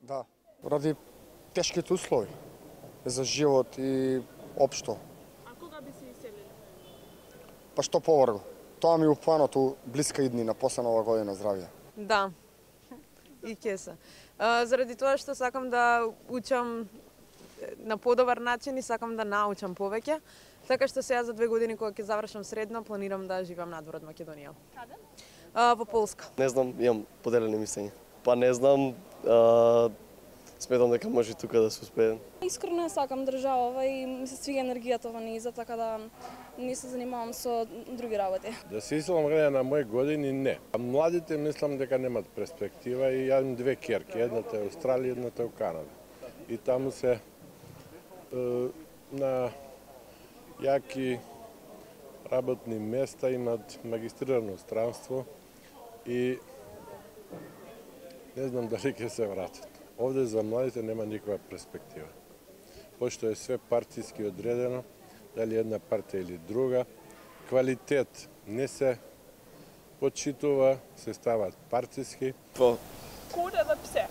Да, ради тешките услови за живот и општо. А кога би се иселиле? Па што побрзо. Тоа ми е упланот блиска иднина, после Нова година, здравје. Да, и ќе се. Заради тоа што сакам да учам на подобар начин и сакам да научам повеќе, така што сега за 2 години кога ќе завршам средно, планирам да живеам надвор од Македонија. Каде? Во Полска. Не знам, имам поделени мислења. Па не знам, сметам дека може тука да се успее. Искрено сакам држава и ми се свига енергијата во нејза, така да не се занимавам со други работи. Да се иселам гледа на мои години, не. А младите мислам дека немат перспектива и ја имам 2 ќерки, едната е Австралија, едната е у Канада. И таму се на јаки работни места имат магистрирано странство и не знам дали ќе се вратат. Овде за младите нема никаква перспектива. Пошто е све партиски одредено, дали една партија или друга, квалитет не се почитува, се стават партиски. Kode dhe pse?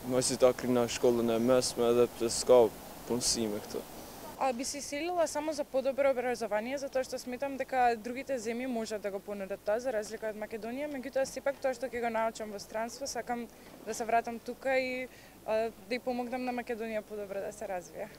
Mos i ta krina shkollën e mesme edhe pse s'ka punësime këtu. Би се иселила само за подобро образование, затоа што сметам дека другите земји можат да го понудат тоа, за разлика од Македонија, меѓутоа сепак тоа што ќе го научам во странство, сакам да се вратам тука и да ја помогнам на Македонија подобро да се развие.